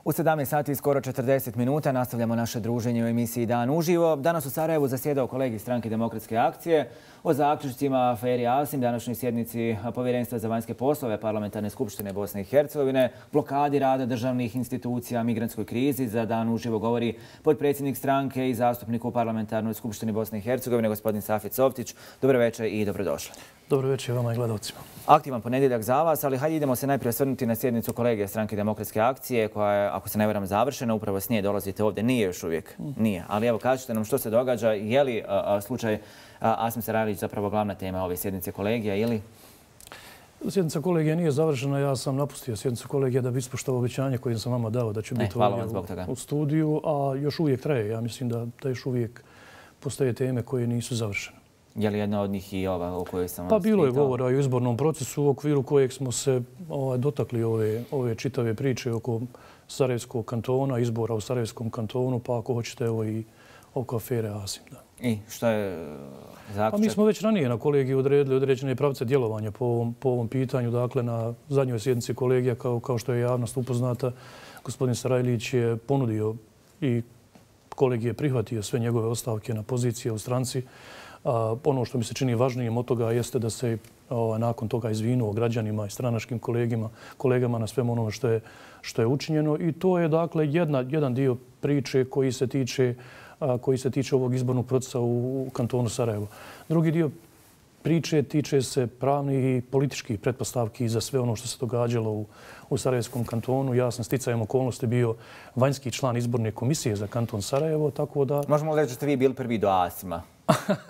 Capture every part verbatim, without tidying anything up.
U sedamnaest sati i skoro četrdeset minuta nastavljamo naše druženje u emisiji Dan uživo. Danas u Sarajevu zasjedao kolegi Stranke demokratske akcije o zaključcima aferi Asim, današnjoj sjednici Povjerenstva za vanjske poslove Parlamentarne skupštine Bosne i Hercegovine, blokadi rada državnih institucija, migrantskoj krizi. Za Dan uživo govori potpredsjednik stranke i zastupnik u Parlamentarnoj skupštini Bosne i Hercegovine, gospodin Safet Softić. Dobro večer i dobrodošli. Dobro večer vama i gledalcima. Aktivan ponedjeljak za vas, ali hajde idemo se najprije osvrnuti na sjednicu kolege Stranke demokratske akcije, koja je, ako se ne varam, završena. Upravo s nje dolazite ovdje. Nije još uvijek. Nije. Ali evo, kažete nam što se događa. Je li a, a, slučaj a, Asim Sarajlić zapravo glavna tema ove sjednice kolegija ili? Sjednica kolegija nije završena. Ja sam napustio sjednicu kolegija da bi ispoštovao obećanje koje sam vama dao da će biti ovdje u, u studiju, a još uvijek traje. Ja mislim da, da još uvijek postoje teme koje nisu završene. Je li jedna od njih i ova o kojoj sam Pa bilo je govora i o izbornom procesu u okviru kojeg smo se ovaj, dotakli ove, ove čitave priče oko Sarajevskog kantona, izbora u Sarajevskom kantonu, pa ako hoćete evo i oko afere Asim. Da. I što je zaključak? Pa mi smo već ranije na kolegiju odredili određene pravce djelovanja po ovom, po ovom pitanju. Dakle, na zadnjoj sjednici kolegija, kao, kao što je javnost upoznata, gospodin Sarajlić je ponudio i kolegij je prihvatio sve njegove ostavke na pozicije u stranci. A, ono što mi se čini važnijim od toga jeste da se o, nakon toga izvinuo građanima i stranačkim kolegima, kolegama na svemu onome što je, što je učinjeno. I to je dakle jedna, jedan dio priče koji se tiče, a, koji se tiče ovog izbornog procesa u, u kantonu Sarajevo. Drugi dio priče tiče se pravnih i političkih pretpostavki za sve ono što se događalo u, u Sarajevskom kantonu. Ja sam sticajem okolnosti bio vanjski član izborne komisije za kanton Sarajevo, tako da... Možemo reći da ste vi bili prvi do Asima.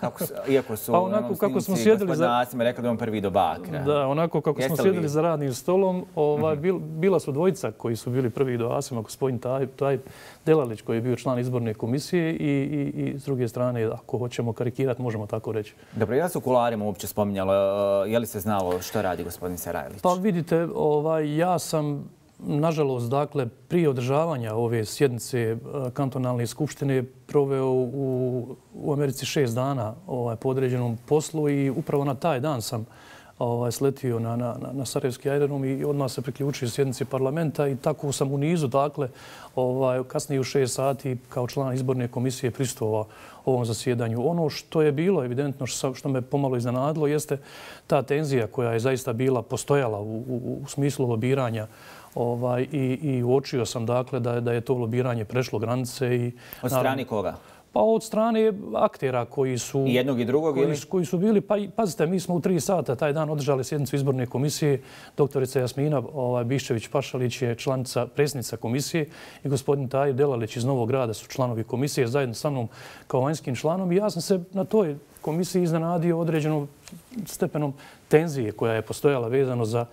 Kako, iako su pa onako kako smo sjedili za Asima rekli da on prvi do Bakra. Da, onako kako Jeste smo sjedili vi? za radnim stolom, ovaj, bil, bila su dvojica koji su bili prvi do Asima, gospodin Taj, Taj Delalić koji je bio član izborne komisije i, i, i s druge strane, ako hoćemo karikirati, možemo tako reći. Dobro, je li se u kuloarima uopće spominjalo, je li se znalo što radi gospodin Sarajlić? Pa vidite, ovaj, ja sam nažalost, dakle, prije održavanja ove sjednice kantonalne skupštine proveo u, u Americi šest dana ovaj, po određenom poslu i upravo na taj dan sam ovaj, sletio na, na, na Sarajevski aerodrom i odmah se priključio sjednici parlamenta i tako sam u nizu, dakle, ovaj, kasnije u šest sati kao član izborne komisije prisustvovao ovom zasjedanju. Ono što je bilo evidentno, što, što me pomalo iznenadilo, jeste ta tenzija koja je zaista bila postojala u, u, u smislu lobiranja. Ovaj, i, i uočio sam dakle da, da je to lobiranje prešlo granice. I, od strane koga? Pa od strane aktera koji su... I jednog i drugog koji, ili? Koji su bili, pa pazite, mi smo u tri sata taj dan održali sjednicu izborne komisije. Doktorica Jasmina ovaj, Biščević-Pašalić je članica, predsjednica komisije i gospodin Taj Delalić iz Novog Grada su članovi komisije zajedno sa mnom kao vanjskim članom. I ja sam se na toj komisiji iznenadio određenom stepenom tenzije koja je postojala vezano za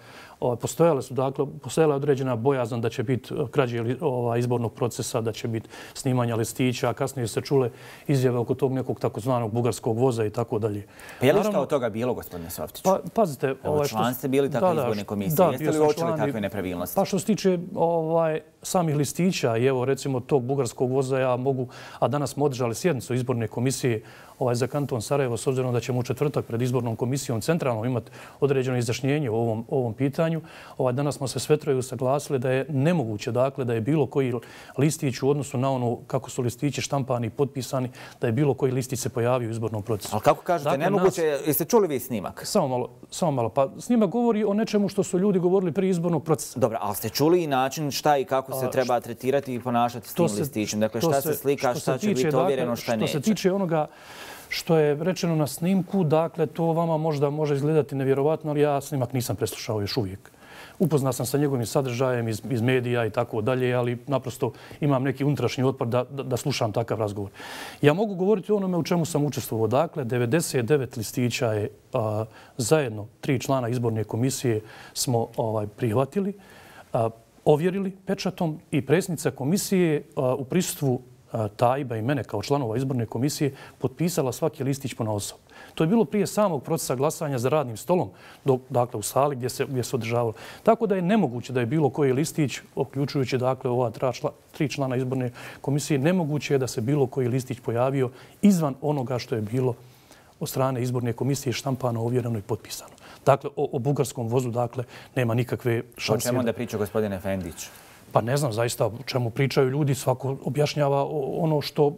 Postojale su, dakle, postojala određena bojazan da će biti krađe ovaj, izbornog procesa, da će biti snimanja listića, a kasnije se čule izjave oko tog nekog takozvanog bugarskog voza i tako dalje. Pa je li što od toga bilo, gospodine Softiću? Pa, pazite... Ovaj, što... Član ste bili takve izborne komisije. Da, Jeste li uočili takve nepravilnosti? Pa što se tiče ovaj, samih listića i evo recimo tog bugarskog voza, ja mogu, a danas smo održali sjednicu izborne komisije ovaj, za kanton Sarajevo, s obzirom da ćemo u četvrtak pred izbornom komisijom centralno imati određeno izjašnjenje o ovom, ovom pitanju. Ovaj, danas smo se sve troje usaglasili da je nemoguće, dakle, da je bilo koji listić u odnosu na ono kako su listići štampani i potpisani, da je bilo koji listić se pojavio u izbornom procesu. Ali kako kažete, dakle, nemoguće, nas... jeste čuli vi snimak? Samo malo, samo malo. Pa snimak govori o nečemu što su ljudi govorili prije izbornog procesa. Dobro, ali ste čuli i način šta i kako se treba tretirati i ponašati s tim listićem? Dakle, šta se slika, šta će biti ovjereno, šta neće? Što se tiče onoga što je rečeno na snimku, dakle, to vama možda može izgledati nevjerovatno, ali ja snimak nisam preslušao još uvijek. Upoznao sam sa njegovim sadržajem iz, iz medija i tako dalje, ali naprosto imam neki unutrašnji otpor da, da, da slušam takav razgovor. Ja mogu govoriti o onome u čemu sam učestvovao. Dakle, devedeset devet listića je a, zajedno tri člana izborne komisije smo ovaj, prihvatili, a, ovjerili pečatom i predsjednica komisije a, u prisustvu Tajba i mene kao članova izborne komisije potpisala svaki listić ponaosob. To je bilo prije samog procesa glasanja za radnim stolom, dok, dakle u sali gdje se, gdje se održavalo. Tako da je nemoguće da je bilo koji listić, uključujući dakle ova tri člana izborne komisije, nemoguće je da se bilo koji listić pojavio izvan onoga što je bilo od strane izborne komisije štampano, ovjereno i potpisano. Dakle, o, o bugarskom vozu dakle, nema nikakve šanse. O čemu onda priča gospodin Efendić? Pa ne znam zaista o čemu pričaju ljudi, svako objašnjava ono što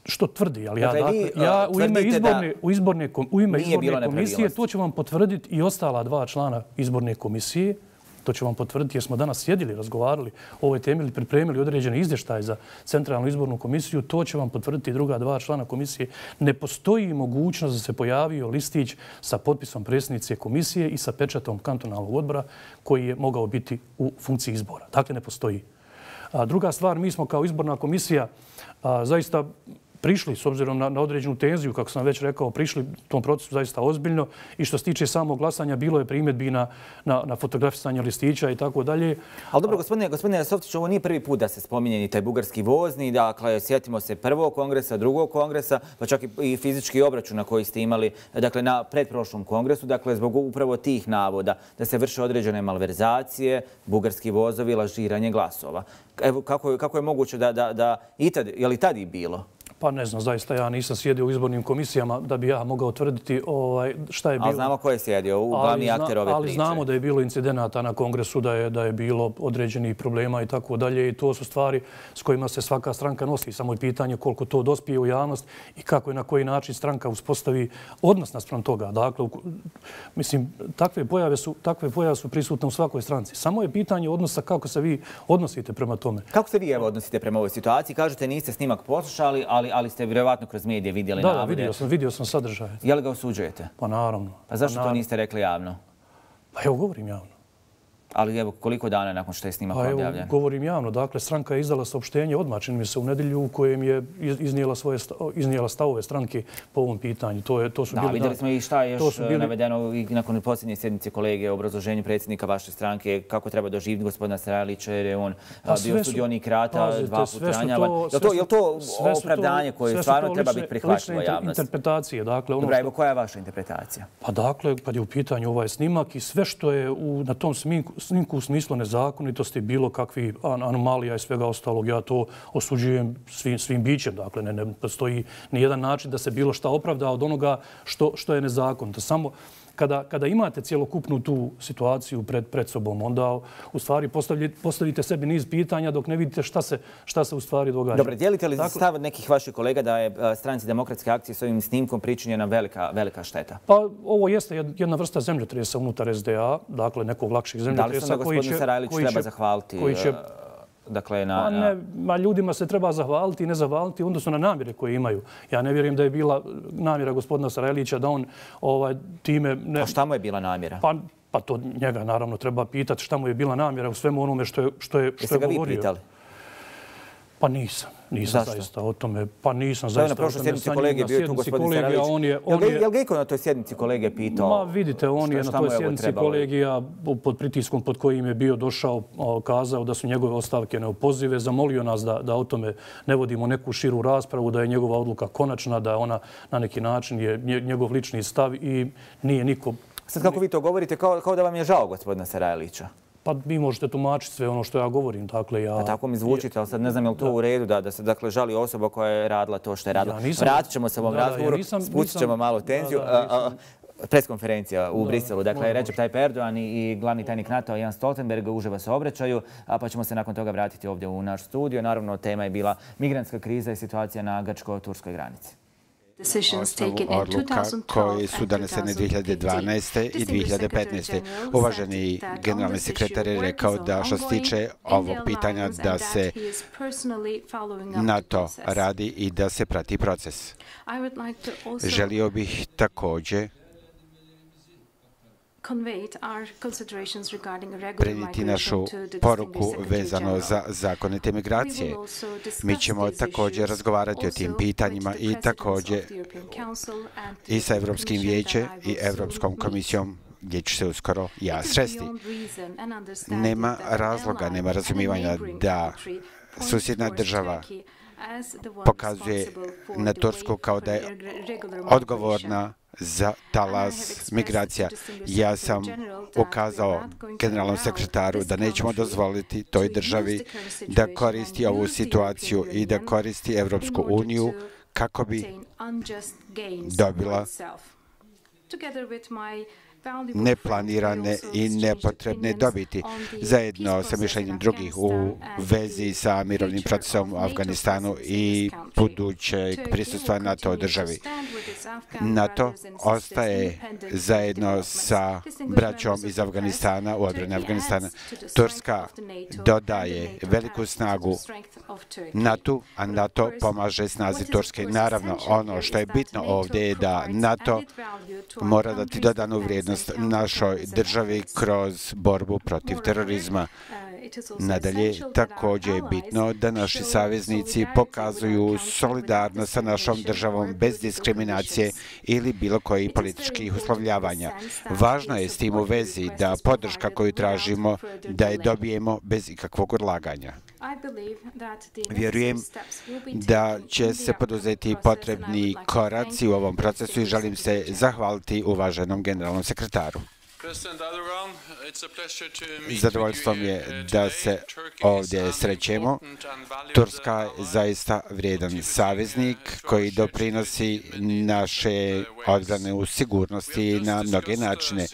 što tvrdi, ali ja, dakle, ja u ime izborne, u izborne, u ime izborne komisije to će vam potvrditi i ostala dva člana izborne komisije. To će vam potvrditi jer smo danas sjedili, razgovarali o ovoj temi ili pripremili određene izvještaje za Centralnu izbornu komisiju. To će vam potvrditi druga dva člana komisije. Ne postoji mogućnost da se pojavio listić sa potpisom predsjednice komisije i sa pečatom kantonalnog odbora koji je mogao biti u funkciji izbora. Dakle, ne postoji. A druga stvar, mi smo kao izborna komisija a, zaista prišli, s obzirom na, na određenu tenziju, kako sam već rekao, prišli tom procesu zaista ozbiljno i što se tiče samog glasanja, bilo je primjedbi na, na, na fotografisanje listića i tako dalje. Ali dobro, gospodine, gospodine Softić, ovo nije prvi put da se spominje ni taj bugarski vozni. Dakle, sjetimo se prvog kongresa, drugog kongresa, pa čak i fizički obračuna koji ste imali dakle, na predprošlom kongresu, dakle, zbog upravo tih navoda da se vrše određene malverzacije, bugarski vozovi, lažiranje glasova. Evo, kako, kako je moguće da, da, da i tad, je li tad i bilo? Pa ne znam, zaista ja nisam sjedio u izbornim komisijama da bi ja mogao tvrditi ovaj, šta je bilo. Ali znamo ko je sjedio, u glavni akter ove priče. Ali znamo da je bilo incidenata na kongresu, da je, da je bilo određenih problema i tako dalje. I to su stvari s kojima se svaka stranka nosi. Samo je pitanje koliko to dospije u javnost i kako i na koji način stranka uspostavi odnos naspram toga. Dakle, u, mislim, takve pojave, su, takve pojave su prisutne u svakoj stranci. Samo je pitanje odnosa kako se vi odnosite prema tome. Kako se vi evo odnosite prema ovoj situaciji? Kažete niste snimak poslušali, ali ali ste vjerovatno kroz medije vidjeli navode. Da, da, vidio sam, vidio sam sadržaj. Je li ga osuđujete? Pa naravno. Pa zašto to niste rekli javno? Pa evo, govorim javno. Ali evo, koliko dana nakon što je snimak objavljen? Pa evo, govorim javno. Dakle, stranka je izdala saopštenje odmah, čini mi se, u nedjelju u kojem je iznijela, svoje, iznijela stavove stranke po ovom pitanju. To, je, to su da, bili, vidjeli smo i šta je još bili... navedeno i nakon posljednje sjednice kolege o obrazloženju predsjednika vaše stranke, kako treba doživjeti gospodina Sarajlića jer je on pa bio sudionik rata, pazite, dva put ranjavan. Je to, je to opravdanje koje stvarno treba biti prihvatljivo javnosti? Interpretacije. Dakle, ono Dobra, evo, koja je vaša interpretacija? Pa dakle, kad je u pitanju ovaj snimak i sve što je u, na tom snimku, snimku u smislu nezakonitosti, bilo kakvi anomalija i svega ostalog, ja to osuđujem svim, svim bićem. Dakle, ne, ne postoji ni jedan način da se bilo šta opravda od onoga što, što je nezakonito. Samo kada, kada imate cjelokupnu tu situaciju pred, pred sobom, onda u stvari postavite, postavite sebi niz pitanja dok ne vidite šta se, šta se u stvari događa. Dobro, dijelite li dakle, stav nekih vaših kolega da je stranci Demokratske akcije s ovim snimkom pričinjena velika, velika šteta? Pa ovo jeste jedna vrsta zemljotresa unutar S D A, dakle nekog lakših zemljotresa. Da li se gospodin Sarajlić treba zahvaliti? Koji će, Dakle, na, pa ne, ma ljudima se treba zahvaliti i ne zahvaliti u odnosu na namjere koje imaju. Ja ne vjerujem da je bila namjera gospodina Sarajlića da on ovaj, time... Ne... A šta mu je bila namjera? Pa, pa to njega naravno treba pitati šta mu je bila namjera u svemu onome što je, što je, što je govorio. Jeste ga vi pitali? Pa nisam. Nisam Zašto? zaista o tome. Pa nisam zaista o tome. Na prošloj sjednici kolege bio tu gospodin Sarajlić. On je, on je, je li ga iko na toj sjednici kolege pitao? Ma vidite, on je na toj sjednici kolegija pod pritiskom pod kojim je bio došao, kazao da su njegove ostavke neopozive, zamolio nas da, da o tome ne vodimo neku širu raspravu, da je njegova odluka konačna, da ona na neki način je njegov lični stav i nije niko... Sad kako vi to govorite, kao, kao da vam je žao gospodina Sarajlića? Pa vi možete tumačiti sve ono što ja govorim. Dakle, ja... Pa tako mi zvučite, ali sad ne znam je li to da. u redu da, da se dakle, žali osoba koja je radila to što je radila. Ja nisam... Vratit ćemo se ovom da, razgovoru, ja nisam, spustit ćemo nisam... malo tenziju. Da, da, nisam... Preskonferencija u da, Briselu. Dakle, Recep Tayyip Erdogan i glavni tajnik NATO Jens Stoltenberg uživo se obraćaju, a pa ćemo se nakon toga vratiti ovdje u naš studio. Naravno, tema je bila migrantska kriza i situacija na grčko-turskoj granici. Odluka koje su donesene dvije hiljade dvanaeste. i dvije hiljade petnaeste. Uvaženi generalni sekretar je rekao da što se tiče ovog pitanja da se na to radi i da se prati proces. Želio bih također prenijeti našu poruku vezano za zakonite migracije. Mi ćemo također razgovarati o tim pitanjima i također i sa Europskim vijećem i Europskom komisijom gdje ću se uskoro ja sresti. Nema razloga, nema razumijevanja da susjedna država pokazuje na Tursku kao da je odgovorna za talas migracija. Ja sam ukazao generalnom sekretaru da nećemo dozvoliti toj državi da koristi ovu situaciju i da koristi Evropsku uniju kako bi dobila neplanirane i nepotrebne dobiti, zajedno sa mišljenjem drugih u vezi sa mirovnim procesom u Afganistanu i budućeg prisustva NATO u državi. NATO ostaje zajedno sa braćom iz Afganistana u odbrani Afganistana. Turska dodaje veliku snagu NATO, a NATO pomaže snazi Turske. Naravno, ono što je bitno ovdje je da NATO mora dati dodanu vrijednost našoj državi kroz borbu protiv terorizma. Nadalje, također je bitno da naši saveznici pokazuju solidarnost sa našom državom bez diskriminacije ili bilo kojih političkih uslovljavanja. Važno je s tim u vezi da podrška koju tražimo da je dobijemo bez ikakvog odlaganja. Vjerujem da će se poduzeti potrebni koraci u ovom procesu i želim se zahvaliti uvaženom generalnom sekretaru. Zadovoljstvo mi je da se ovdje srećemo. Turska je zaista vrijedan saveznik koji doprinosi naše odbrane u sigurnosti na mnoge načine.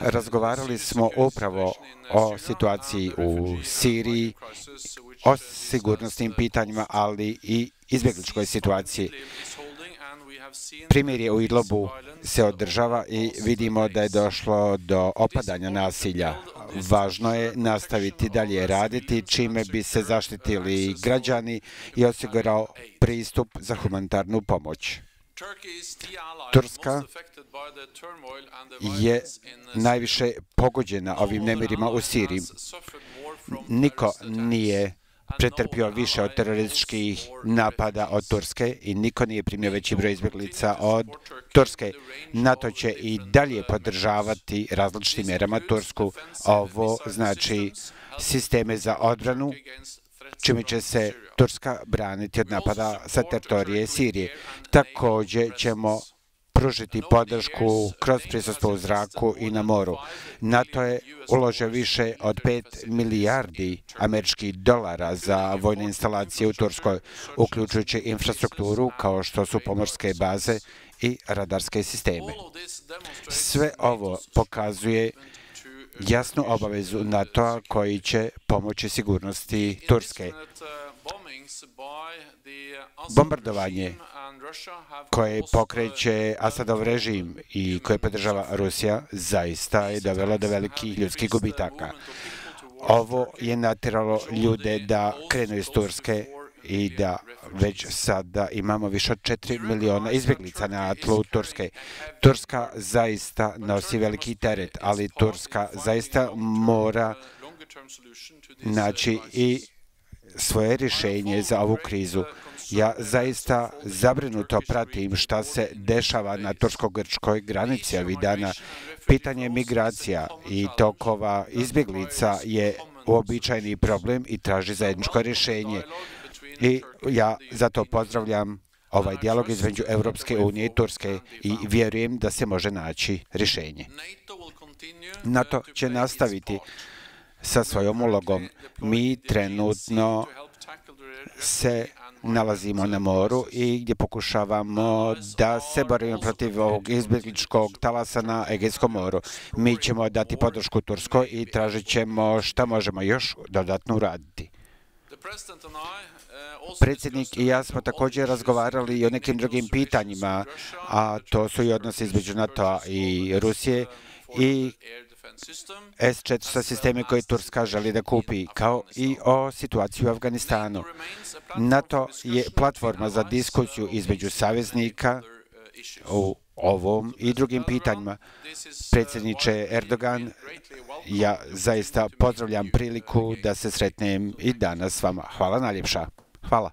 Razgovarali smo upravo o situaciji u Siriji, o sigurnosnim pitanjima, ali i izbjegličkoj situaciji. Primirje u Idlibu se održava i vidimo da je došlo do opadanja nasilja. Važno je nastaviti dalje raditi, čime bi se zaštitili građani i osigurao pristup za humanitarnu pomoć. Turska je najviše pogođena ovim nemirima u Siriji. Niko nije pretrpio više od terorističkih napada od Turske i niko nije primio veći broj izbjeglica od Turske. NATO će i dalje podržavati različitim mjerama Tursku. Ovo znači sisteme za odbranu, čime će se Turska braniti od napada sa teritorije Sirije. Također ćemo pružiti podršku kroz prisustvo u zraku i na moru. NATO je uložio više od pet milijardi američkih dolara za vojne instalacije u Turskoj, uključujući infrastrukturu kao što su pomorske baze i radarske sisteme. Sve ovo pokazuje jasnu obavezu NATO-a koji će pomoći sigurnosti Turske. Bombardovanje koje pokreće Asadov režim i koje podržava Rusija zaista je dovelo do velikih ljudskih gubitaka. Ovo je natjeralo ljude da krenu iz Turske i da već sada imamo više od četiri miliona izbjeglica na tlu Turske. Turska zaista nosi veliki teret, ali Turska zaista mora naći i svoje rješenje za ovu krizu. Ja zaista zabrinuto pratim šta se dešava na tursko-grčkoj granici ovih dana. Pitanje migracija i tokova izbjeglica je uobičajeni problem i traži zajedničko rješenje. I ja zato pozdravljam ovaj dijalog između Europske unije i Turske i vjerujem da se može naći rješenje. NATO će nastaviti sa svojom ulogom. Mi trenutno se nalazimo na moru i gdje pokušavamo da se borimo protiv ovog izbjegličkog talasa na Egejskom moru. Mi ćemo dati podršku Turskoj i tražit ćemo šta možemo još dodatno uraditi. Predsjednik i ja smo također razgovarali i o nekim drugim pitanjima, a to su i odnosi između NATO-a i Rusije i S četiristo sisteme koje Turska želi da kupi, kao i o situaciji u Afganistanu. NATO je platforma za diskusiju između saveznika u ovom i drugim pitanjima. Predsjedniče Erdogan, ja zaista pozdravljam priliku da se sretnem i danas s vama. Hvala najljepša. Hvala.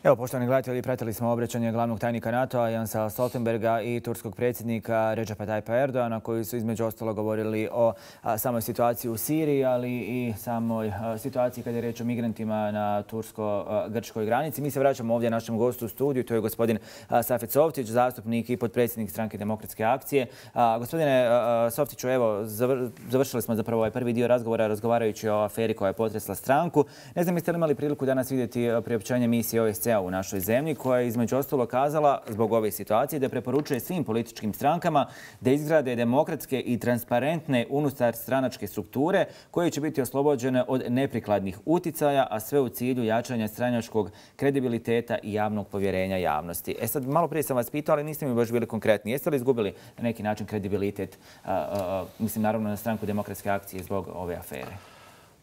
Evo, poštovani gledatelji, pratili smo obraćanje glavnog tajnika NATO-a Jensa Stoltenberga i turskog predsjednika Redžepa Tajpa Erdoana, koji su između ostalo govorili o a, samoj situaciji u Siriji, ali i samoj a, situaciji kada je reč o migrantima na tursko-grčkoj granici. Mi se vraćamo ovdje našem gostu u studiju, to je gospodin a, Safet Softić, zastupnik i potpredsjednik Stranke demokratske akcije. A, gospodine a, Softiću, evo, zavr, završili smo zapravo ovaj prvi dio razgovora razgovarajući o aferi koja je potresla stranku. Ne znam, jeste li imali priliku danas vidjeti priopćenje misije O S C-a a u našoj zemlji, koja je između ostalo kazala zbog ove situacije da preporučuje svim političkim strankama da izgrade demokratske i transparentne unutar stranačke strukture koje će biti oslobođene od neprikladnih uticaja, a sve u cilju jačanja stranačkog kredibiliteta i javnog povjerenja javnosti. E sad, malo prije sam vas pitao, ali niste mi baš bili konkretni. Jeste li izgubili na neki način kredibilitet, a, a, mislim naravno na stranku Demokratske akcije zbog ove afere?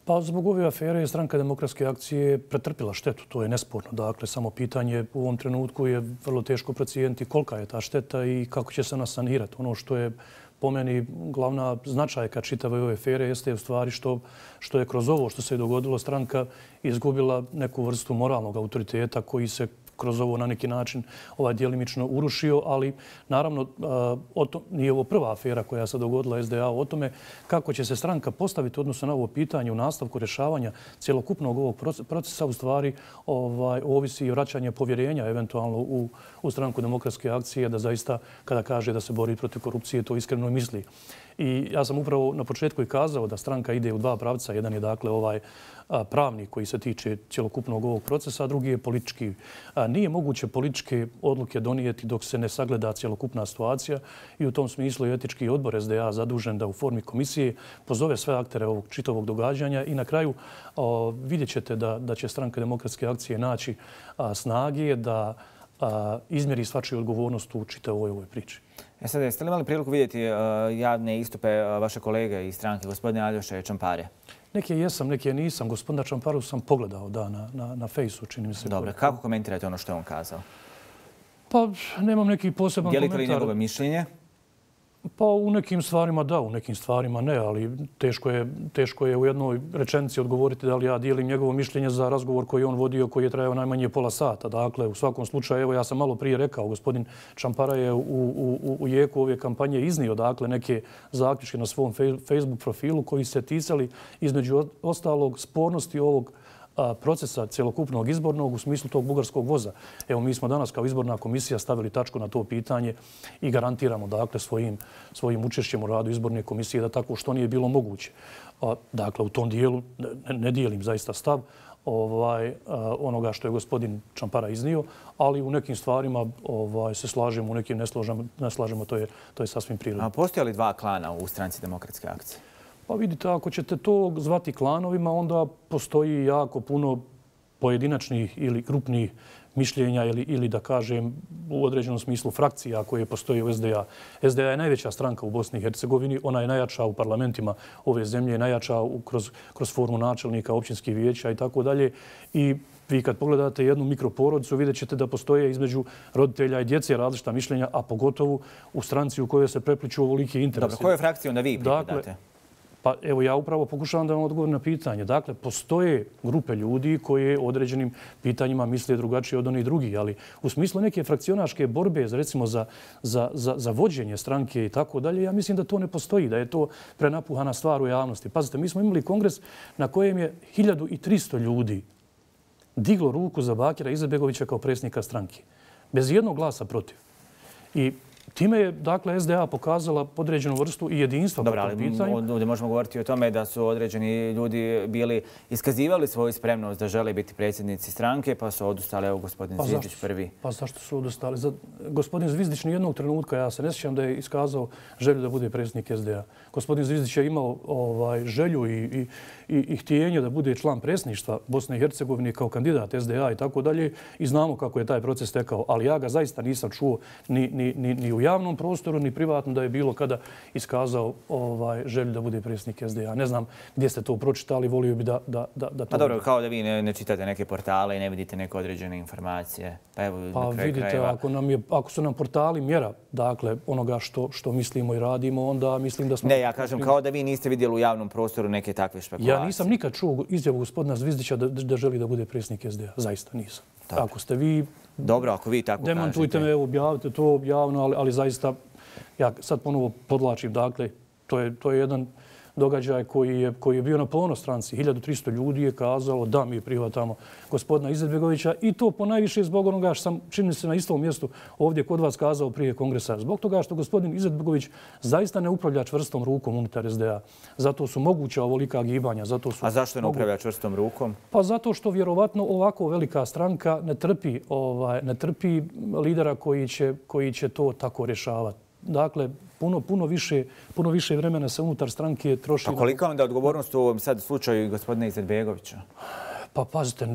Pa zbog ove afere je stranka Demokratske akcije pretrpila štetu, to je nesporno. Dakle, samo pitanje u ovom trenutku je vrlo teško procijeniti kolika je ta šteta i kako će se ona sanirati. Ono što je po meni glavna značajka čitave ove afere jeste u stvari što, što je kroz ovo što se je dogodilo stranka izgubila neku vrstu moralnog autoriteta koji se kroz ovo na neki način ovaj djelimično urušio, ali naravno o to, nije ovo prva afera koja se dogodila S D A o tome kako će se stranka postaviti odnosno na ovo pitanje u nastavku rješavanja cjelokupnog ovog procesa u stvari ovaj, ovisi i vraćanje povjerenja eventualno u, u stranku Demokratske akcije da zaista kada kaže da se bori protiv korupcije to iskreno misli. I ja sam upravo na početku i kazao da stranka ide u dva pravca. Jedan je dakle ovaj pravni koji se tiče cjelokupnog ovog procesa, a drugi je politički. Nije moguće političke odluke donijeti dok se ne sagleda cjelokupna situacija i u tom smislu je etički odbor S D A zadužen da u formi komisije pozove sve aktere ovog čitavog događanja i na kraju o, vidjet ćete da, da će stranka Demokratske akcije naći a, snage da a, izmjeri svačiju odgovornost u čitavoj ovoj priči. E sad, jeste li imali priliku vidjeti uh, javne istupe uh, vaše kolege iz stranke, gospodine Aljoše Čampare? Neke jesam, neke nisam. Gospodina Čamparu sam pogledao da, na, na, na fejsu, čini mi se. Dobro, kako komentirate ono što je on kazao? Pa, nemam neki poseban komentar. Dijelite li njegovo mišljenje? Pa u nekim stvarima da, u nekim stvarima ne, ali teško je, teško je u jednoj rečenici odgovoriti da li ja dijelim njegovo mišljenje za razgovor koji je on vodio, koji je trajao najmanje pola sata. Dakle, u svakom slučaju, evo ja sam malo prije rekao, gospodin Čampara je u, u, u jeku ove kampanje iznio dakle, neke zaključke na svom Facebook profilu koji se ticali između ostalog spornosti ovog procesa cjelokupnog izbornog u smislu tog bugarskog voza. Evo, mi smo danas kao izborna komisija stavili tačku na to pitanje i garantiramo dakle, svojim, svojim učešćem u radu izborne komisije da tako što nije bilo moguće. Dakle, u tom dijelu ne, ne dijelim zaista stav ovaj, onoga što je gospodin Čampara iznio, ali u nekim stvarima ovaj, se slažemo, u nekim ne slažemo, ne slažemo to, je, to je sasvim prirodno. A postoje li dva klana u stranci Demokratske akcije? Pa vidite, ako ćete to zvati klanovima, onda postoji jako puno pojedinačnih ili grupnih mišljenja ili, ili da kažem u određenom smislu frakcija koje postoje u S D A. S D A je najveća stranka u Bosni i Hercegovini, ona je najjača u parlamentima ove zemlje, najjača u, kroz, kroz formu načelnika, općinskih vijeća i tako dalje. I vi kad pogledate jednu mikroporodicu vidjet ćete da postoje između roditelja i djece različita mišljenja, a pogotovo u stranci u kojoj se prepliču ovoliki interesi. Dobro, koje frakcije onda vi pripadate? Dakle, pa evo ja upravo pokušavam da vam odgovorim na pitanje. Dakle, postoje grupe ljudi koje određenim pitanjima misle drugačije od onih drugih, ali u smislu neke frakcionaške borbe, recimo za, za, za, za vođenje stranke i tako dalje, ja mislim da to ne postoji, da je to prenapuhana stvar u javnosti. Pazite, mi smo imali kongres na kojem je hiljadu tristo ljudi diglo ruku za Bakira Izetbegovića kao predsjednika stranke. Bez jednog glasa protiv. I time je, dakle, S D A pokazala određenu vrstu i jedinstva po tom pitanju. Dobro, ali ovdje možemo govoriti o tome da su određeni ljudi bili iskazivali svoju spremnost da žele biti predsjednici stranke, pa su odustali, evo, gospodin pa Zvizdić prvi. Pa zašto su odustali? Za, gospodin Zvizdić nijednog trenutka, ja se ne sjećam da je iskazao želju da bude predsjednik S D A. Gospodin Zvizdić je imao ovaj, želju i, i, i, i htjenje da bude član predsjedništva Bosne i Hercegovine kao kandidat S D A i tako dalje i znamo kako je taj proces tekao, ali ja ga zaista nisam čuo ni, ni, ni, ni u javnom prostoru, ni privatno da je bilo kada iskazao ovaj, želju da bude predsjednik S D A. Ne znam gdje ste to pročitali, volio bi da, da, da, da to... Pa dobro, kao da vi ne, ne čitate neke portale i ne vidite neke određene informacije. Pa, evo, pa vidite, krajeva... ako, nam je, ako su nam portali mjera, dakle, onoga što, što mislimo i radimo, onda mislim da smo... Ne, ja kažem kao da vi niste vidjeli u javnom prostoru neke takve špekulacije. Ja nisam nikad čuo izjavu gospodina Zvizdića da, da želi da bude predsjednik S D A. Zaista nisam. Dobro. Ako ste vi... Dobro, ako vi tako kažete. Demantujte me, objavite to javno, ali, ali zaista, ja sad ponovo podlačim, dakle, to je, to je jedan događaj koji je, koji je bio na ponos stranci. hiljadu tristo ljudi je kazalo da mi prihvatamo gospodina Izetbegovića i to ponajviše zbog onoga što sam, čini se, na istom mjestu ovdje kod vas kazao prije kongresa. Zbog toga što gospodin Izetbegović zaista ne upravlja čvrstom rukom unutar S D A. Zato su moguća ovolika gibanja. Zato su A zašto ne upravlja čvrstom rukom? Pa zato što vjerovatno ovako velika stranka ne trpi, ovaj, ne trpi lidera koji će, koji će to tako rješavati. Dakle, puno, puno, više, puno više vremena se unutar stranke troši. A kolika onda odgovornost u ovom sad slučaju gospodina Izetbegovića? Pa pazite,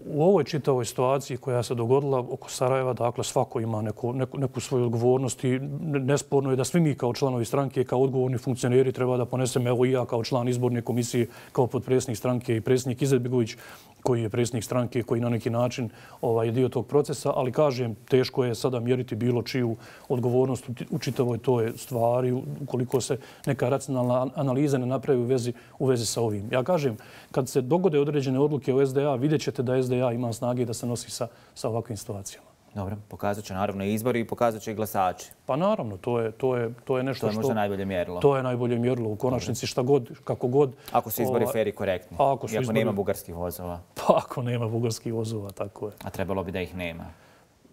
u ovoj čitavoj situaciji koja se dogodila oko Sarajeva, dakle svako ima neku, neku, neku svoju odgovornost i nesporno je da svi mi kao članovi stranke, kao odgovorni funkcioneri treba da ponesemo, evo i ja kao član izborne komisije, kao potpredsjednik stranke i predsjednik Izetbegović, koji je predsjednik stranke, koji na neki način ovaj, je dio tog procesa, ali kažem, teško je sada mjeriti bilo čiju odgovornost u čitavoj toj stvari, ukoliko se neka racionalna analiza ne napravi u vezi, u vezi sa ovim. Ja kažem, kad se dogode određene odluke u S D A, vidjet ćete da S D A ima snage da se nosi sa, sa ovakvim situacijama. Dobro, pokazat će naravno izbori i pokazat će i glasači. Pa naravno, to je, to je, to je nešto što... To je možda najbolje mjerilo. To je najbolje mjerilo. U konačnici šta god, kako god... Ako su izbori fair i korektni. Ako I ako izbori... nema bugarskih vozova. Pa ako nema bugarskih vozova, tako je. A trebalo bi da ih nema.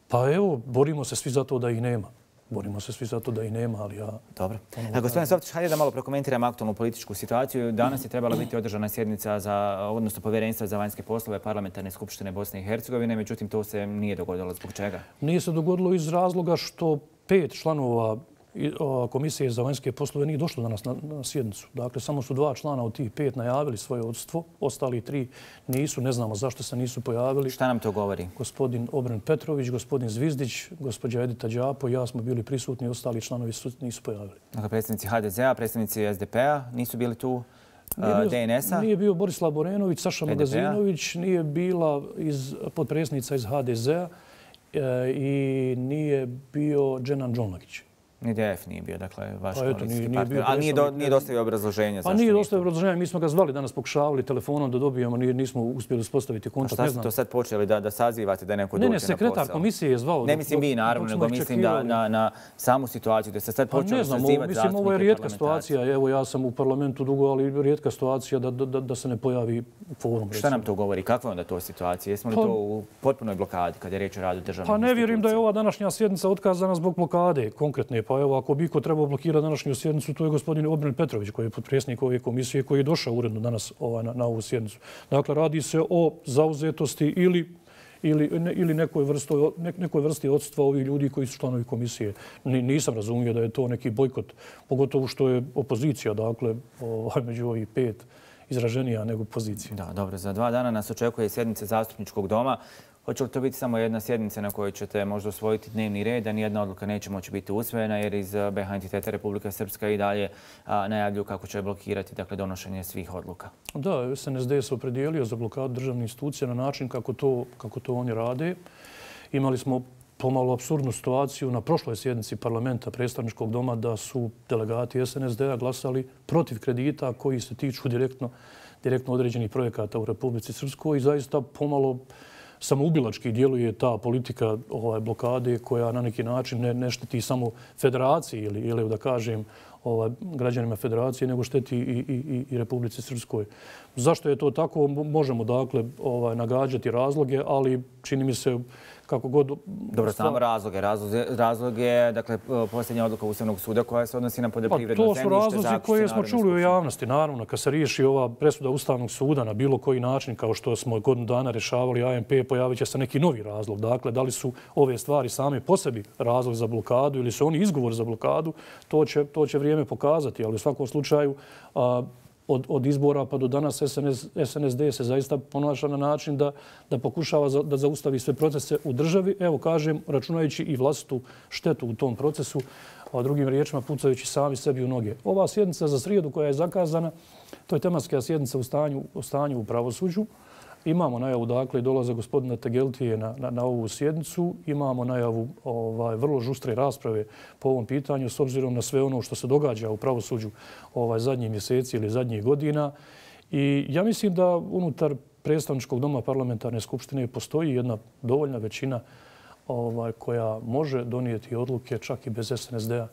Pa evo, borimo se svi za to da ih nema. Borimo se svi za to da ih nema, ali ja... Dobro. Gospodin Softić, hajde da malo prokomentiramo aktualnu političku situaciju. Danas je trebala biti održana sjednica za, odnosno povjerenstva za vanjske poslove Parlamentarne skupštine Bosne i Hercegovine, međutim to se nije dogodilo. Zbog čega? Nije se dogodilo iz razloga što pet članova Komisije za vanjske poslove nije došlo danas na, na sjednicu. Dakle, samo su dva člana od tih pet najavili svoje odsustvo. Ostali tri nisu. Ne znamo zašto se nisu pojavili. Šta nam to govori? Gospodin Obren Petrović, gospodin Zvizdić, gospođa Edita Đapo i ja smo bili prisutni. Ostali članovi su, nisu pojavili. Dakle, predstavnici H D Z A, predstavnici S D P-a nisu bili tu? D N S-a? Nije bio Borislav Borenović, Saša Magazinović, nije bila iz, podpredsjednica iz H D Z-a e, i nije bio Dženan Džonlagić. Ni D F nije bio, dakle, vaš pa eto, koalicijski nije, partner. Nije ali nije, do, nije dostavio obrazloženja. Pa nije dostavio obrazloženja. Mi smo ga zvali, danas pokušavali telefonom da dobijemo, nismo uspjeli uspostaviti kontakt. A šta ste to sad počeli da, da sazivate da neko dođe na posao? Ne, ne, sekretar komisije je zvao. Ne mislim vi, naravno, nego mislim da, na, na samu situaciju da se sad počeli sazivati zastupnike parlamentarce. Mislim, ovo je rijetka situacija. Evo, ja sam u parlamentu dugo, ali rijetka situacija da, da, da se ne pojavi forum. Šta nam to govori? Kakva je onda to situacija? Jesmo li pa, to u potpunoj blokadi kad je riječ o radu državnih Pa ne vjerujem da je ova današnja sjednica otkazana zbog blokade konkretne. Pa evo, ako bi ko trebao blokirati današnju sjednicu, to je gospodin Obren Petrović, koji je potpredsjednik ove komisije, koji je došao uredno danas ovaj, na, na ovu sjednicu. Dakle, radi se o zauzetosti ili, ili, ne, ili nekoj, vrsto, ne, nekoj vrsti odsustva ovih ljudi koji su članovi komisije. Ni, nisam razumio da je to neki bojkot, pogotovo što je opozicija, dakle, ovaj, među ovih pet izraženija nego pozicija. Da, dobro. Za dva dana nas očekuje sjednica zastupničkog doma. Hoće li to biti samo jedna sjednica na kojoj ćete možda usvojiti dnevni red, a nijedna odluka neće moći biti usvojena jer iz B H entiteta Republika Srpska i dalje a, najavljuju kako će blokirati dakle, donošenje svih odluka? Da, S N S D se opredijelio za blokadu državnih institucija na način kako to, kako to oni rade. Imali smo pomalo apsurdnu situaciju na prošloj sjednici parlamenta predstavničkog doma da su delegati S N S D-a glasali protiv kredita koji se tiču direktno, direktno određenih projekata u Republici Srpskoj i zaista pomalo samoubilački djeluje ta politika ovaj, blokade koja na neki način ne, ne šteti samo federaciji ili, ili da kažem ovaj, građanima federacije, nego šteti i, i, i Republici Srpskoj. Zašto je to tako? Možemo dakle ovaj, nagađati razloge, ali čini mi se kako god... Dobro, samo razloge. Razloge, razloge dakle, posljednja odluka Ustavnog suda koja se odnosi na poljoprivredno zemljište. Pa to su razlozi koje smo čuli u javnosti. Naravno, kad se riješi ova presuda Ustavnog suda na bilo koji način, kao što smo godinu dana rješavali A M P, pojavit će se neki novi razlog. Dakle, da li su ove stvari same po sebi razlog za blokadu ili su oni izgovor za blokadu, to će, to će vrijeme pokazati. Ali u svakom slučaju, a, Od, od izbora pa do danas S N S, S N S D se zaista ponaša na način da, da pokušava za, da zaustavi sve procese u državi. Evo kažem, računajući i vlastitu štetu u tom procesu, a drugim riječima pucajući sami sebi u noge. Ova sjednica za srijedu koja je zakazana, to je tematska sjednica u stanju, u stanju u pravosuđu. Imamo najavu dakle dolaza gospodina Tegeltije na, na, na ovu sjednicu. Imamo najavu ovaj, vrlo žustre rasprave po ovom pitanju s obzirom na sve ono što se događa u pravosuđu ovaj, zadnjih mjeseci ili zadnjih godina. I ja mislim da unutar predstavničkog doma parlamentarne skupštine postoji jedna dovoljna većina ovaj, koja može donijeti odluke čak i bez S N S D-a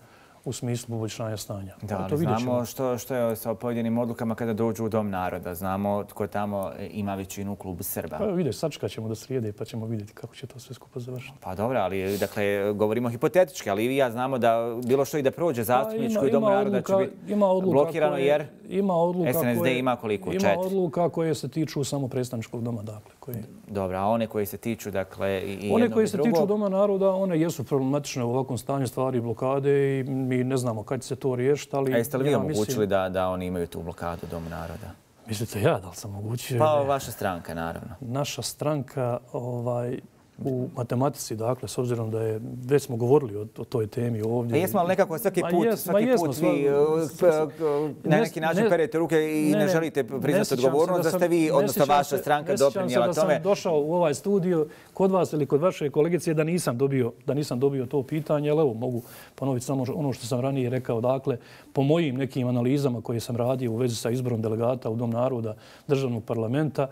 u smislu poboljšanja stanja. Da, ali znamo što, što je sa pojedinim odlukama kada dođu u Dom naroda. Znamo tko tamo ima većinu u klubu Srba. Pa vidiš, sačekat ćemo do srijede pa ćemo vidjeti kako će to sve skupo završiti. Pa dobro, ali dakle, govorimo hipotetički, ali i vi ja znamo da bilo što i da prođe zastupničko i Dom naroda će biti blokirano jer S N S D ima koliko? Četiri. Ima odluka koje se tiču samo predstavničkog doma. Dakle, dobro, a one koje se tiču dakle, i jednog i drugog? One koje se tiču Doma naroda, one jesu problematične u ovakvom stanju stvari blokade i mi ne znamo kad će se to riješiti. Ali a jeste li vi omogućili da, da oni imaju tu blokadu Doma naroda? Mislite ja da li sam omogućio? Pa vaša stranka, naravno. Naša stranka ovaj, u matematici, dakle, s obzirom da je, već smo govorili o, o toj temi ovdje. A jesmo, ali nekako svaki put, jes, svaki jesmo, put vi sva, na neki način ne, perete ruke i ne, ne želite priznati odgovornost da, da ste vi, odnosno vaša stranka doprinijela tome. Da sam došao u ovaj studio kod vas ili kod vaše kolegice da nisam dobio, da nisam dobio to pitanje, ali evo mogu ponoviti samo ono što sam ranije rekao. Dakle, po mojim nekim analizama koje sam radio u vezi sa izborom delegata u Dom naroda državnog parlamenta,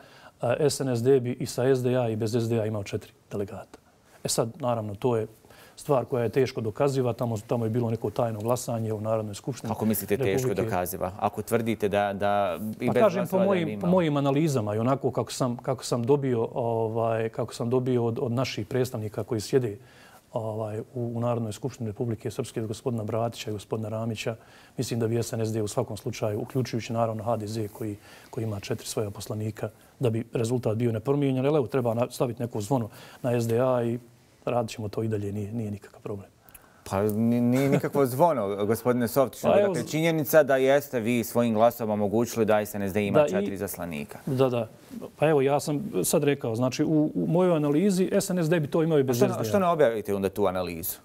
S N S D bi i sa S D A i bez S D A imao četiri delegata. E sad, naravno, to je stvar koja je teško dokaziva. Tamo, tamo je bilo neko tajno glasanje u Narodnoj skupštini. Kako mislite teško dokaziva? Ako tvrdite da, da i pa bez kažem, po mojim, mojim, po mojim analizama i onako kako sam, kako sam dobio, ovaj, kako sam dobio od, od naših predstavnika koji sjede ovaj, u, u Narodnoj skupštini Republike Srpske, od gospodina Bratića i gospodina Ramića, mislim da bi S N S D u svakom slučaju, uključujući naravno H D Z koji, koji ima četiri svoja poslanika, da bi rezultat bio nepromijenjen. Ali evo, treba staviti neko zvono na S D A i radit ćemo to i dalje, nije, nije nikakav problem. Pa nije nikakvo zvono, gospodine Softiću. Pa, dakle, činjenica da jeste vi svojim glasom omogućili da S N S D ima da, četiri i, zaslanika. Da, da. Pa evo, ja sam sad rekao, znači u, u mojoj analizi S N S D bi to imao i bez S D A. Što, što ne objavite onda tu analizu?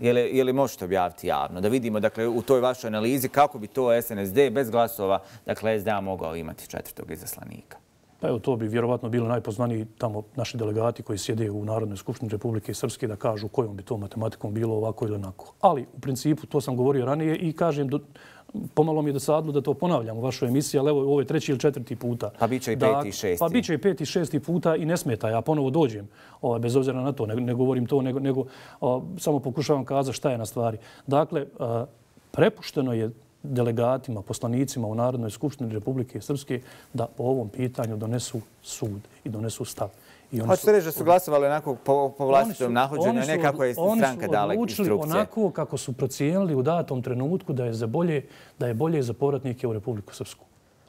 Je li, je li možete objaviti javno? Da vidimo dakle, u toj vašoj analizi kako bi to S N S D bez glasova, dakle S D A mogao imati četvrtog izaslanika. Pa evo, to bi vjerovatno bilo najpoznaniji tamo naši delegati koji sjede u Narodnoj skupštini Republike Srpske da kažu kojom bi to matematikom bilo ovako ili onako. Ali u principu to sam govorio ranije i kažem, do, pomalo mi je dosadno da to ponavljam u vašoj emisiji, ali evo ovo je treći ili četvrti puta. Pa bit će i peti i šesti. Pa bit će i peti i šesti puta i ne smeta. Ja ponovo dođem, o, bez obzira na to, ne, ne govorim to, nego, nego o, samo pokušavam kazati šta je na stvari. Dakle, a, prepušteno je delegatima, poslanicima u Narodnoj skupštini Republike Srpske da po ovom pitanju donesu sud i donesu stav. Hoćete reći da su glasovali onako po, po vlastitom nahođenju, a ne kako je stranka dala instrukcije? Oni su odlučili onako kako su procijenili u datom trenutku da je, za bolje, da je bolje za povratnike u Republiku Srpsku.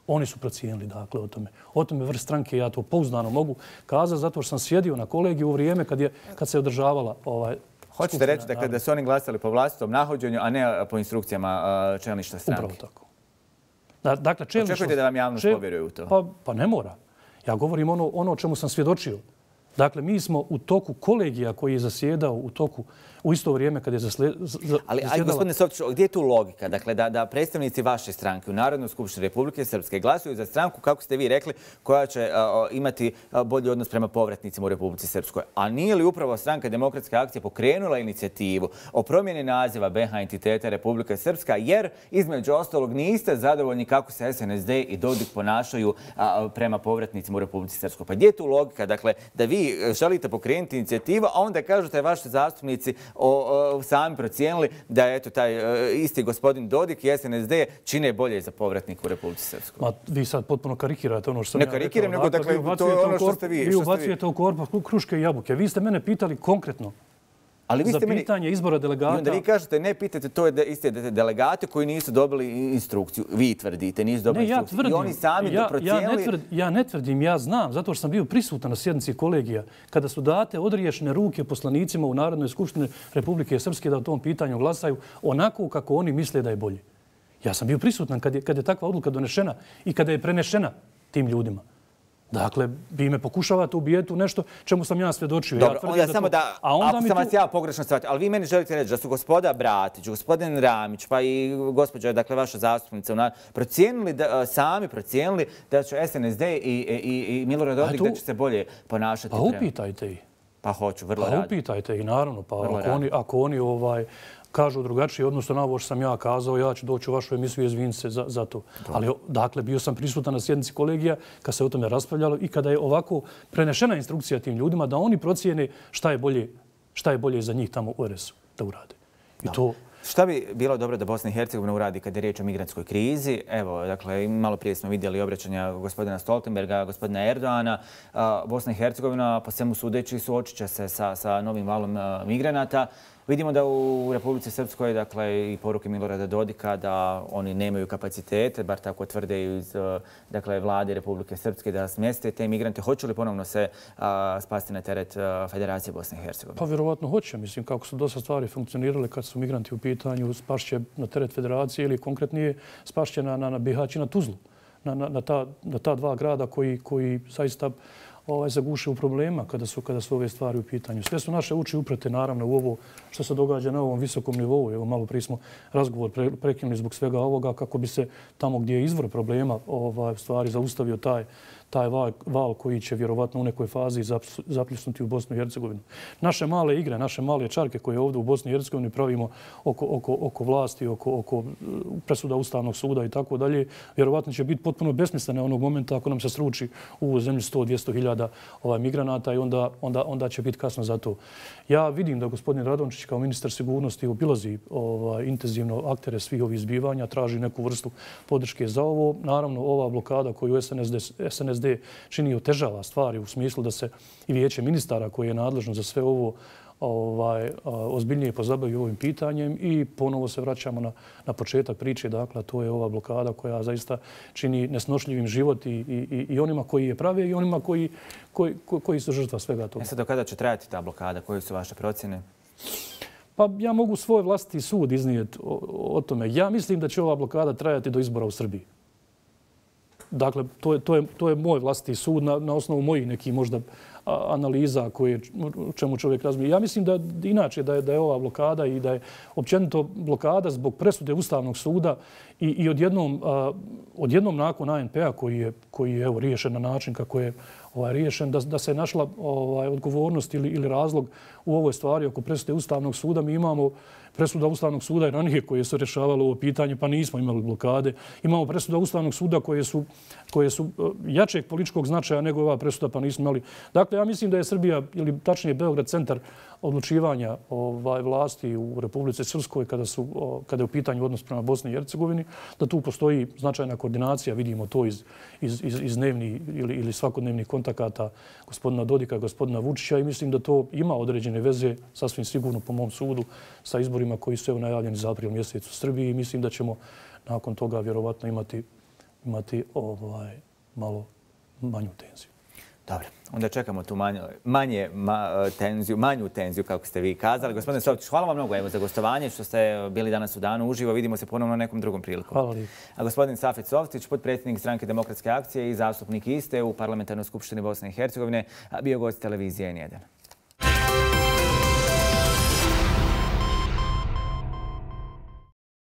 Oni su procijenili dakle o tome. O tome vrst stranke ja to pouzdano mogu kazati zato što sam sjedio na kolegiju u vrijeme kad, je, kad se održavala ovaj, hoćete reći dakle, da su oni glasali po vlastitom nahođenju, a ne po instrukcijama čelništva stranke? Upravo tako. Da, dakle, čelništvo... Očekujete da vam javnost čel... povjeruje u to? Pa, pa ne mora. Ja govorim ono, ono o čemu sam svjedočio. Dakle, mi smo u toku kolegija koji je zasjedao u toku u isto vrijeme kad je zasle, za, ali, ali gospodine Softiću, gdje je tu logika? Dakle, da, da predstavnici vaše stranke u Narodnoj skupštini Republike Srpske glasuju za stranku, kako ste vi rekli, koja će a, imati a, bolji odnos prema povratnicima u Republici Srpskoj. A nije li upravo stranka Demokratske akcije pokrenula inicijativu o promjeni naziva B H entiteta Republika Srpska, jer između ostalog niste zadovoljni kako se S N S D i Dodik ponašaju a, prema povratnicima u Republici Srpskoj. Pa gdje je tu logika? Dakle, da vi želite pokrenuti inicijativu, a onda kažete vaši zastupnici O, o, sami procijenili da je eto taj e, isti gospodin Dodik i S N S D čine bolje za povratnik u Republici Srpskoj. Ma, vi sad potpuno karikirate ono što sam ne ja karikiram, nego dakle, to je ono što ste vi. Vi ubacujete u korpu kruške i jabuke. Vi ste mene pitali konkretno ali vi ste za pitanje meni... izbora delegata. I onda vi kažete, ne pitate, to je da iste delegate koji nisu dobili instrukciju. Vi tvrdite, nisu dobili ne, ja instrukciju. Tvrdim, I oni sami ja, to procijenili. Ja ne, tvrd, ja ne tvrdim, ja znam, zato što sam bio prisutan na sjednici kolegija, kada su date odriješene ruke poslanicima u Narodnoj skupštini Republike Srpske da o tom pitanju glasaju onako kako oni misle da je bolje. Ja sam bio prisutan kad je, kad je takva odluka donešena i kada je prenešena tim ljudima. Dakle, vi me pokušavate ubijeti u nešto čemu sam ja svjedočio. Dobro, ja onda da samo to... da, a onda ako sam tu... vas ja pogrešno shvatio, ali vi meni želite reći da su gospoda Bratić, gospodin Ramić, pa i gospođa, dakle, vaša zastupnica, procijenili da, sami procijenili da će S N S D i, i, i Milorad Dodik tu... da će se bolje ponašati. Pa prema... upitajte ih. Pa hoću, vrlo pa rado. Pa upitajte ih, naravno. Pa ako oni, ako oni ovaj, kažu drugačije, odnosno na ovo što sam ja kazao, ja ću doći u vašu emisiju i izviniti se za, za to. Dobro. Ali, dakle, bio sam prisutan na sjednici kolegija kad se o tome raspravljalo i kada je ovako prenešena instrukcija tim ljudima da oni procijene šta je bolje, šta je bolje za njih tamo u R S-u da urade. I to, Šta bi bilo dobro da Bosna i Hercegovina uradi kad je riječ o migrantskoj krizi? Evo, dakle, malo prije smo vidjeli obraćanja gospodina Stoltenberga, gospodina Erdoana. Bosna i Hercegovina, po svemu sudeći, suočit će se sa, sa novim valom migranata. Vidimo da u Republici Srpskoj, dakle, i poruke Milorada Dodika da oni nemaju kapacitete, bar tako tvrde iz dakle, vlade Republike Srpske, da smjeste te migrante. Hoće li ponovno se a, spasti na teret a, Federacije Bosne i Hercegovine? Pa vjerovatno hoće. Mislim, kako su dosta stvari funkcionirale kad su migranti u pitanju, spašće na teret Federacije ili konkretnije spašće na, na, na Bihać i na Tuzlu. Na, na, na, ta, na ta dva grada koji, koji zaista ovaj, zaguše u problema kada su, kada su ove stvari u pitanju. Sve su naše uči uprate naravno u ovo što se događa na ovom visokom nivou. Evo, malo prije smo razgovor pre, prekinuli zbog svega ovoga kako bi se tamo gdje je izvor problema ovaj, stvari zaustavio taj, taj val, val koji će vjerovatno u nekoj fazi zapljusnuti u Bosnu i Hercegovinu. Naše male igre, naše male čarke koje ovdje u Bosni i Hercegovini pravimo oko, oko, oko vlasti, oko, oko presuda Ustavnog suda i tako dalje, vjerovatno će biti potpuno besmislene onog momenta ako nam se sruči u zemlji sto do dvjesto hiljada ovaj, migranata i onda, onda, onda će biti kasno za to. Ja vidim da gospodin Radončić kao ministar sigurnosti obilazi ovaj, intenzivno aktere svih ovih zbivanja, traži neku vrstu podrške za ovo. Naravno, ova blokada koju S N S D, S N S D čini otežava stvari u smislu da se i vijeće ministara koje je nadležno za sve ovo ovaj, ozbiljnije pozabavi ovim pitanjem i ponovo se vraćamo na, na početak priče. Dakle, to je ova blokada koja zaista čini nesnošljivim život i, i, i onima koji je prave i onima koji, koji, koji su žrtva svega toga. E sad, do kada će trajati ta blokada? Koje su vaše procjene? Pa ja mogu svoj vlastiti sud iznijeti o, o tome. Ja mislim da će ova blokada trajati do izbora u Srbiji. Dakle, to je, to je, to je moj vlastiti sud na, na osnovu mojih nekih možda analiza koje, o čemu čovjek razumije. Ja mislim da inače da je, da je ova blokada i da je općenito blokada zbog presude Ustavnog suda i, i odjednom, a, odjednom nakon A N P-a koji je, koji je evo, riješen na način kako je ovaj, riješen, da, da se našla ovaj, odgovornost ili, ili razlog u ovoj stvari oko presude Ustavnog suda. Mi imamo presuda Ustavnog suda i ranije koje su rješavale ovo pitanje, pa nismo imali blokade. Imamo presuda Ustavnog suda koje su, koje su jačeg političkog značaja nego ova presuda, pa nismo imali. Dakle, ja mislim da je Srbija, ili tačnije Beograd, centar odlučivanja ovaj, vlasti u Republici Srpskoj kada, su, kada je u pitanju odnos prema Bosni i Hercegovini, da tu postoji značajna koordinacija, vidimo to iz, iz, iz, iz dnevnih ili, ili svakodnevnih kontakata gospodina Dodika i gospodina Vučića i mislim da to ima određene veze, sasvim sigurno po mom sudu, sa izborima koji su evo najavljeni za april mjesec u Srbiji i mislim da ćemo nakon toga vjerovatno imati, imati ovaj, malo manju tenziju. Dobro, onda čekamo tu manje, manje ma, tenziju, manju tenziju, kako ste vi kazali. Gospodine Softić, hvala vam mnogo evo, za gostovanje, što ste bili danas u danu uživo. Vidimo se ponovno na nekom drugom priliku. Hvala lijepo. A gospodin Safet Softić, potpredsjednik Stranke demokratske akcije i zastupnik iste u Parlamentarnoj skupštini Bosne i Hercegovine, bio gost televizije N jedan.